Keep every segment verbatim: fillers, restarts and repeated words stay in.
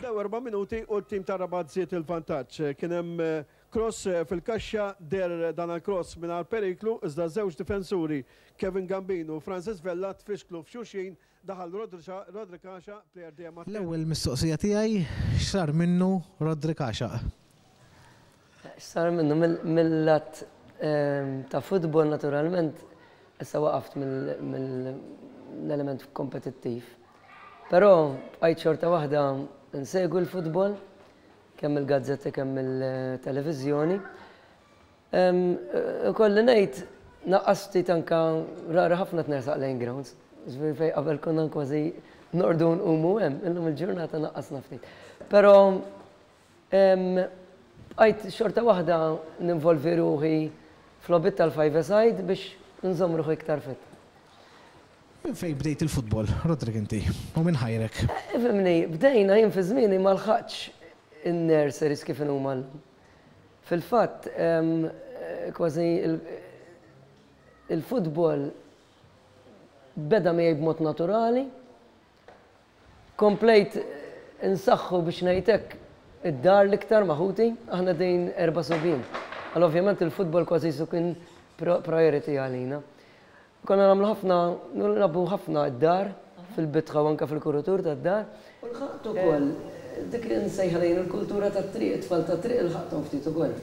Komplew erba' minuti u t-tim ta' Rabat żied il-vantaġġ. Kien hemm eh, cross eh, fil-kaxxa, der dan il-cross mingħajr periklu, iżda żewġ difensuri, Kevin Gambino u Francis Vella, tfixklu f'xulxin, daħal Rodri Kaxa, player dejjem L-ewwel mistoqsija tiegħi, x'sar minnu Rodri Kaxa? X'sar minnu mill-lat ehm, ta' futbol, naturalment, issa waqaft mill-element kompetittiv. Però bqajt xorta waħda nsegwi l-futbol, kemm il-gazzetti, kemm il-televiżjoni. Kolli ngħid naqqas ftit, anka rara ħafna tnersaq lejn grounds. Ġifieri fej qabel konna kważi norqdu nqumu hemm, illum il-ġurnata naqqasna ftit. Però bqajt xorta waħda ninvolvi ruħi f'logħbiet tal-five side biex nżomm ruħi iktar fit. Minn fej bdejt il-futbol, Rodrik, inti? U minn ħajrek? Ifhimni, bdejna jien fi żmieni ma lħaqtx in-nurseries kif huma llum. Fil-fatt, kważi il-futbol beda miegħi b'mod naturali. Komplejt insaħħu, biex ngħidlek, id-dar l-iktar ma' ħuti, aħna din erba' subien. Għal ovvjament il-futbol kważi su kien priority għalina. Konna nagħmlu ħafna, nilagħbu ħafna id-dar, fil-bitħa u anka fil-kuritur tad-dar. U lħaqt ukoll, dik li nsejħa lejn il-kultura tat-triq, it-tfal tat-triq ilħaqthom ftit ukoll.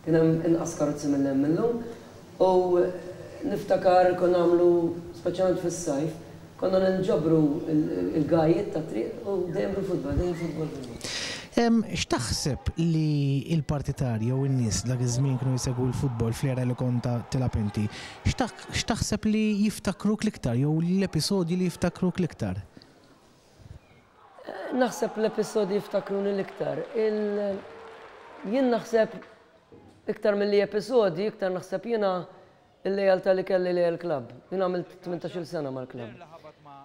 Kien hemm inqas karozzi mill hemm illum. U niftakar konna nagħmlu, speċjalment fis-sajf, konna ninġabru il-gajiet tat-triq u dejjem bil-futbol, dejjem futbol. X'taħseb li il-partitarji u n-nies dak iż-żmien kienu jsegwu l-futbol fl-era li kont tilgħab inti? X'taħseb li jiftakruk l-iktar jew l-episodji li jiftakruk l-iktar? Naħseb l-episodji jiftakruni l-iktar. Jien naħseb iktar mill-li episodji, iktar naħseb jiena il-lejaltà li kelli li l-klab. Jien għamilt tmintax-il sena mal-klab.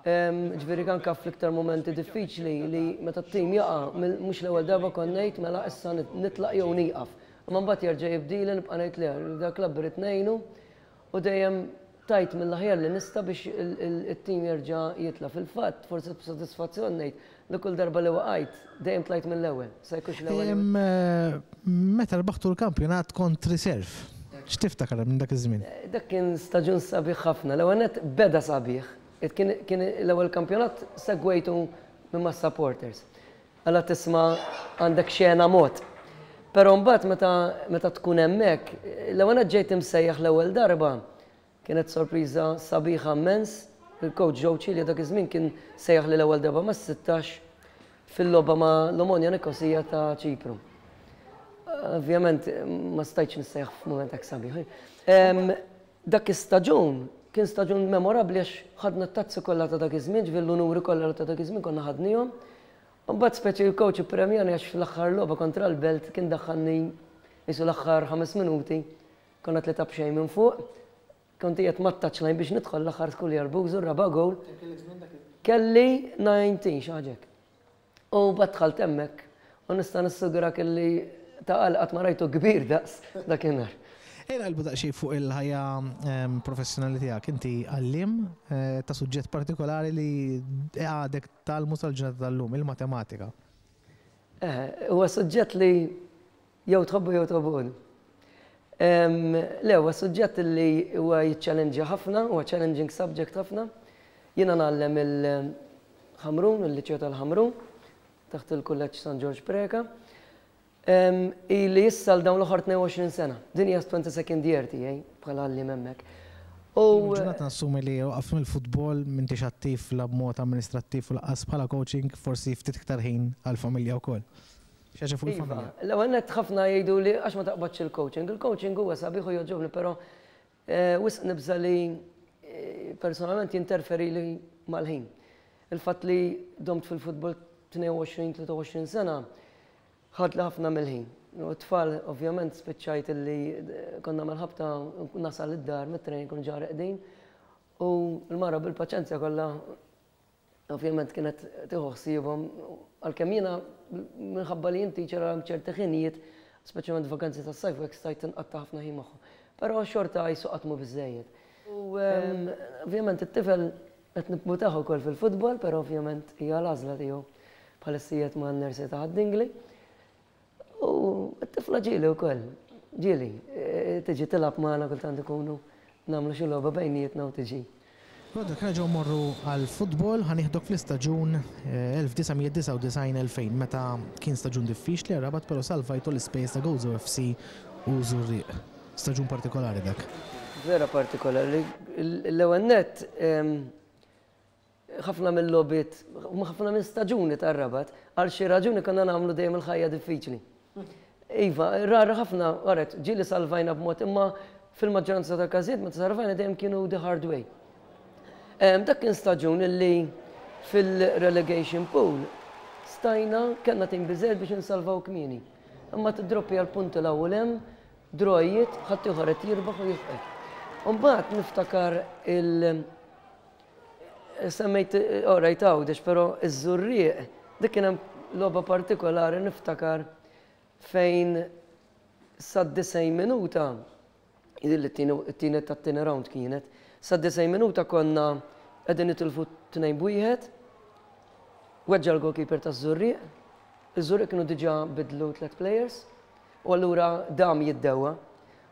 Ġifieri anka fl-iktar momenti diffiċli li meta t-tim jaqa', mhux l-ewwel darba kont ngħid mela issa nitlaq jew nieqaf. Imma mbagħad jerġa' jibdili, nibqa' ngħid li da klab irid ngħinu u dejjem tajt mill-aħjar li nista' biex it-tim jerġa' jitla'. Fil-fatt, forsi b'sodisfazzjon ngħid li kull darba li waqajt dejjem tlajt mill-ewwel. Sa jkunx l-ewwel. Meta rbaħtu l-kampjonat kont reserve. X'tiftakar minn dak iż-żmien? Dak kien staġun sabiħ ħafna. L-ewwel net beda sabiħ. Kien l-ewwel kampjonat segwejtu minn ma' supporters. Għalla tisma' għandek xena mod. Però mbagħad meta meta tkun hemmhekk, l-ewwel net ġejt imsejjaħ l-ewwel darba, kienet sorpriża sabiħa immens. Il-coach Joe Chili dak iż-żmien kien sejjaħ li l-ewwel darba ma' sittax fil-logħba ma' l-Omonia Nikosija ta' Ċipru. Ovvjament ma stajtx nissejjaħ f'mument hekk sabiħ. Dak istaġun kien staġun memorabbli għax ħadna t-tazzi kollha ta' dak iż-żmien, ġifieri l-unuri kollha ta' dak iż-żmien konna ħadnihom. Mbagħad speċi il-coach ippremjani għax fl-aħħar logħba kontra l-Belt kien daħħalni jisu l-aħħar ħames minuti, konna tlieta b'xejn minn fuq. Kont qiegħed mat-touchline biex nidħol l-aħħar skulja l-bużu raba' goal. Kelli tmintax, xi ħaġa hekk. U dħalt hemmhekk u nista' nissugra kelli ta' qatt ma rajtu kbir daqs dakinhar. Ejja naqilbu daqsxejn fuq il-ħajja professjonali tiegħek. Inti għalliem eh, ta' suġġett partikolari li għadek tgħallmu sal-ġurnata tal-lum, il-matematika. Eh, huwa suġġett li jew tħobbu jew tobgħodu. Le, huwa suġġett li huwa jiċċallenġja ħafna, huwa challenging subject ħafna. Jiena ngħallem il-Ħamrun, il-Liċeo tal-Ħamrun, taħt il-Kulleġġ San George Preka. Ili issa l dawn l-aħħar tnejn u għoxrin sena. Din hija twenty-second year tiegħi bħala għalliem hemmhekk. U ġurnata nassumi li waqaf mill-futbol, m'intix attiv la b'mod amministrattiv u lanqas bħala coaching, forsi ftit iktar ħin għall-familja wkoll. Xi ħaġa fuq Iva, il-familja. L-ewwel nett ħafna jgħidu li għax ma taqbadx il-coaching. Il-coaching huwa sabiħ u jogħġobni, però eh, wisq nibża li eh, personalment jinterferi li mal-ħin. Il-fatt li domt fil-futbol tnejn u għoxrin, tlieta u għoxrin sena ħadli ħafna mill-ħin. U t-tfal, ovvjament, spiċċajt li eh, konna mal-ħabta nasal id-dar mit-training kun ġa reqdin. U l-mara bil-paċenzja kollha ovvjament kienet tieħu ħsiebhom, għalkemm jiena minħabba li inti ċera ċerti ħinijiet, speċjalment vakanzi tas-sajf, u hekk stajt inqatta' ħafna ħin magħhom. Però xorta jisu qatt mhu biżejjed. U ehm, ovvjament it-tifel qed nibmutaħ ukoll fil-futbol, però ovvjament hija l-għażla tiegħu. Bħalissa qiegħed ma' nursery ta' Ħad-Dingli. U t-tifla ġieli wkoll, ġieli, tiġi tilgħab magħna kultant ikunu nagħmlu xi logħba bejnietna u tiġi. Roderick, nerġgħu mmorru għall-futbol, ħa nieħdok fl-istaġun elf disa' mija disgħa u disgħin elfejn, meta kien staġun diffiċli għar-Rabat, però salvajtu l-ispejjeż ta' Gozo F C u Żurrieq. Staġun partikolari dak. Vera partikolari. L-ewwel nett, ħafna mill-logħbiet, ħafna minn staġuni tar-Rabat, għal xi raġuni konna nagħmlu dejjem il-ħajja diffiċli. Iva, rara ħafna, għaret, ġieli salvajna b'mod, imma fil-maġġoranza tal-każijiet meta salvajna dejjem kienu the hard way. Em, dak kien staġun illi fil-relegation pool stajna kellna tim biżejjed biex insalvaw kmieni. Imma tidroppi għal punti l-ewwel hemm, drojiet, ħadd ieħor qed jirbaħ u jifqek. U mbagħad niftakar il- semmejt, oh, rajt Għawdex, però iż-Żurrieq, dik kien hemm logħba partikolari niftakar fejn sa disgħin minuta, jidhirli t-tieni tat-tieni round kienet, sa disgħin minuta konna qegħdin nitilfu tnejn b'wieħed, weġġa l-goalkeeper taż-Żurrieq, iż-Żurrieq kienu diġà bidlu tliet players, u allura dam jiddewa.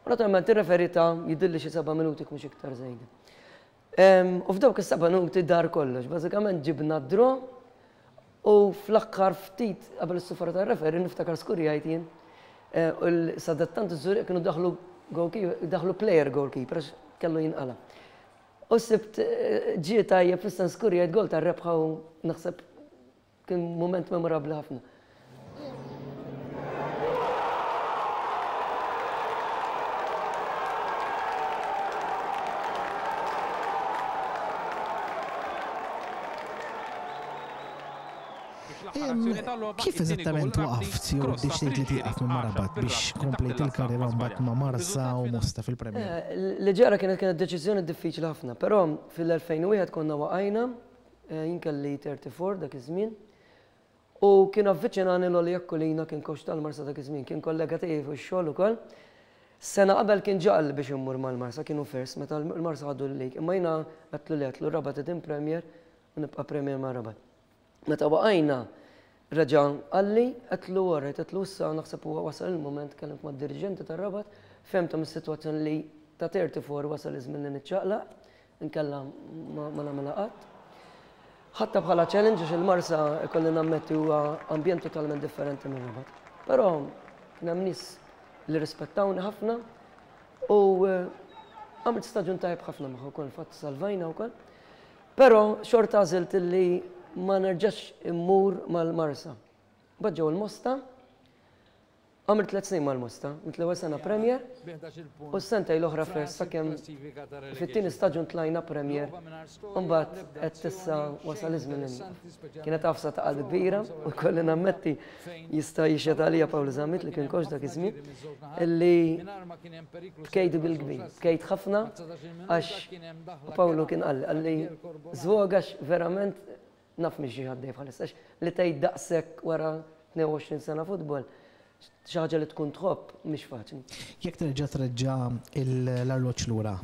U naturalment ir-referee ta' jidhirli xi seba' minuti mhux iktar żejda. Em, u f'dawk is-seba' minuti dar kollox, bażikament ġibna d-draw u fl-aħħar ftit qabel is-sufra tar-referee niftakar skurjajt jien, eh, u l-sadattant iż-Żurrieq kienu daħlu goalkeeper, daħlu player goalkeeper għax kellu jinqala. U sibt, eh, ġie tajjeb fis-sens skurjajt gol tar-rebħa u naħseb kien moment memorabbli ħafna. Kif eżattament waqaft jew deċidejt li tieqaf minn Rabat biex komplejt il-karriera mbagħad ma' Marsa u Mosta fil-Premier? Eh, li ġara kienet, kienet deċiżjoni diffiċli ħafna, però fil-elfejn u wieħed konna waqajna, eh, jien kelli thirty-four dak iż-żmien, u kien avviċinani Lolly Aquilina, kien coach tal-Marsa dak iż-żmien, kien kollega tiegħi fuq ix-xogħol ukoll. Sena qabel kien ġaqal biex immur mal-Marsa, kienu first, meta l-Marsa ħadu l-lig, imma jiena għedtlu li għedtlu Rabat qegħdin Premier u nibqa' Premier ma' Rabat. Meta waqajna, reġa' qalli, għedtlu wara, għedtlu issa naħseb huwa wasal il-moment, kellimt mad-dirigenti tar-Rabat, fehmthom is-sitwazzjoni li ta' thirty-four wasal iż-żmien li niċċaqlaq, inkella ma, ma nagħmilha qatt. Ħadtha bħala challenge għax il-Marsa ikolli nammetti huwa ambjent totalment differenti minn Rabat. Però kien hemm nies li rispettawni ħafna u, eh, għamilt staġun tajjeb ħafna magħhom ukoll, fatt salvajna wkoll. Però xorta għażilt li ma nerġax immur mal-Marsa. Mbagħad ġew il-Mosta, għamilt tliet snin mal-Mosta, għamilt l-ewwel sena Premier u s-sentej l-oħra first sakemm fit-tieni staġun tlajna Premier u mbagħad qed issa wasal iż-żmien li nieqaf. Kienet għafsa ta' qalb kbira u kolli nammetti jista' jixhed għalija Paolo Zammit li kien coach dak iż-żmien illi bkejt bil-kbir, bkejt ħafna għax Paolo kien qalli, qalli żvog għax verament naf mhix xi ħaddej bħalissa, għax li tgħid daqshekk wara tnejn u għoxrin sena futbol, xi ħaġa li tkun tħobb mhix faċli. Jekk terġa' treġġa' l-arloġġ lura,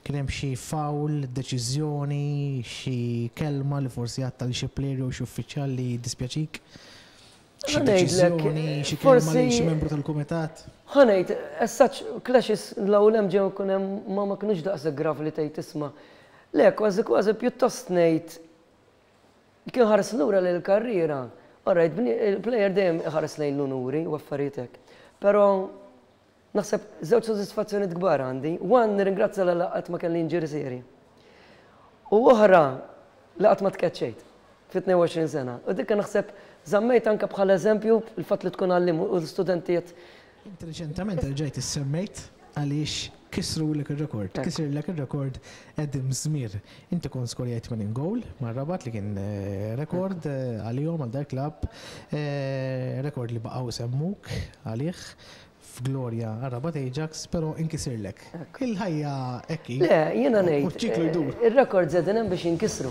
kien hemm xi foul, deċiżjoni, xi kelma li forsi għadta lil xi player jew xi uffiċjal li dispjaċik? Xi Ħa ngħidlek, deċiżjoni, xi kelma lil xi forsi membru tal-kumitat? Ħa ngħid, as such, clashes l-ewwel hemm ġew ikun hemm ma ma kinux daqshekk gravi li tgħid tisma'. Le, kważi kważi pjuttost ngħid kien ħares lura lil karriera. All right, bni-, il-player dejjem iħares lejn l-unuri u affarijiet hekk. Però naħseb żewġ sodisfazzjonijiet kbar għandi. One, nirringrazzja l qatt ma kelli injury seri. U oħra, li qatt ma tkeċċejt fi tnejn u għoxrin sena. U dik naħseb żammejt anke bħala eżempju il-fatt li tkun għallim u l-studentijiet. Inti reċentament rġajt issemmejt għaliex kisrulek ir-rekord. Ekku. Kisirlek ir-rekord Adam Żmir. Inti kont skorjajt tmenin goal mar-Rabat li kien, eh, rekord, eh, għalihom għal dak klabb, eh, rekord li baqgħu semmuk għalih f'glorja għar-Rabat Ajax, però inkisirlek. Ekku. Il-ħajja hekk hi. Le, jiena U ngħid, ċ-ċiklu eh, jdur. ir-rekord żedin hemm biex jinkisru.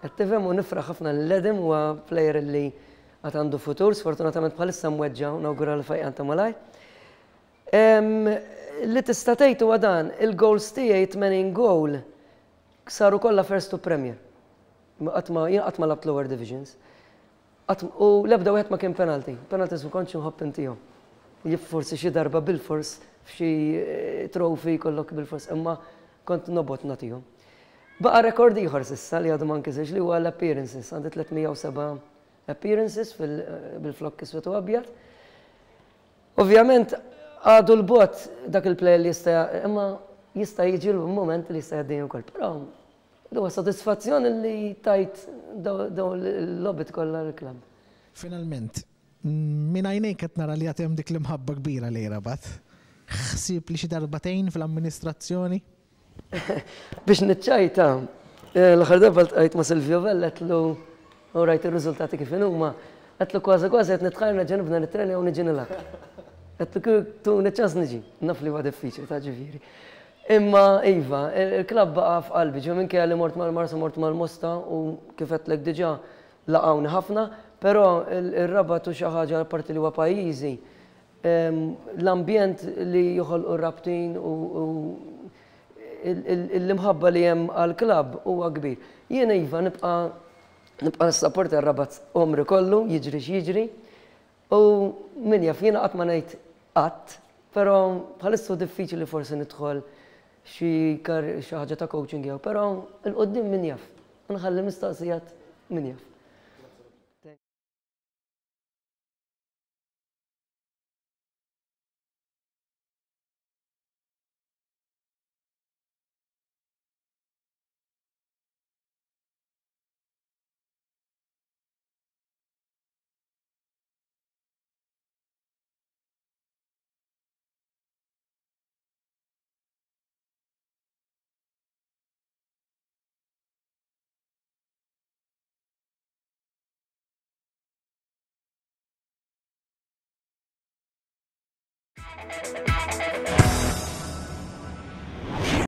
Qed tifhem u nifraħ ħafna lil Adam, huwa player li għad għandu futur, sfortunatament bħalissa mweġġa' u nawgura li fejqan ta' malaj. Em, li tista' tgħid huwa dan, il-goals tiegħi tmenin goal saru kollha first to Premier. Ma qatt ma, jien qatt ma labt lower divisions. U l-ebda wieħed ma kien penalty. Penalties ma kontx nħobb intihom. Jif forsi xi darba bil-fors f'xi trophy kollok bil-fors, imma kont nobgħod nagħtihom. Baqa' rekord ieħor s'issa li għadu ma nkisirx li huwa l-appearances. Għandi tliet mija u seba' appearances bil-flokk iswed u abjad. Ovvjament għadu 'l bogħod dak il-player li jista', imma jista' jiġi l-moment li jista' jgħaddini wkoll. Però huwa sodisfazzjon li tajt dawn il-logħbiet kollha l-klabb. Finalment, minn għajnejk qed nara li għad hemm dik l-imħabba kbira li Rabat. Ħsieb li xi darbatejn fl-amministrazzjoni? Biex niċċajta, eh, l-aħħar darba ltqajt ma' Silvio Vella, għedtlu u rajt ir-riżultati kif huma, għedtlu kważi kważi qed nitħajr nerġa' nibda nitrenja u niġi nilgħab. Għedtlu kieku tuni ċans niġi, naf li huwa diffiċli ta' ġifieri. Imma iva, il-klabb baqa' f'qalbi, ġo minkejja li mort mal-Marsa, mort mal-Mosta u kif għedtlek diġà laqgħuni ħafna, però il-Rabat u xi ħaġa parti li huwa pajjiżi, l-ambjent li joħolqu r-Rabtin u l-imħabba li hemm għal-klabb huwa kbir. Jiena iva nibqa' nibqa' nissapporta r-Rabat għomri kollu, jiġri x'jiġri, u min jaf, jiena qatt ma ngħid qatt, però bħalissa diffiċli forsi nidħol xi xi ħaġa ta' coaching jew, però 'il quddiem min jaf. Nħalli mistoqsijat, min jaf. Thank you.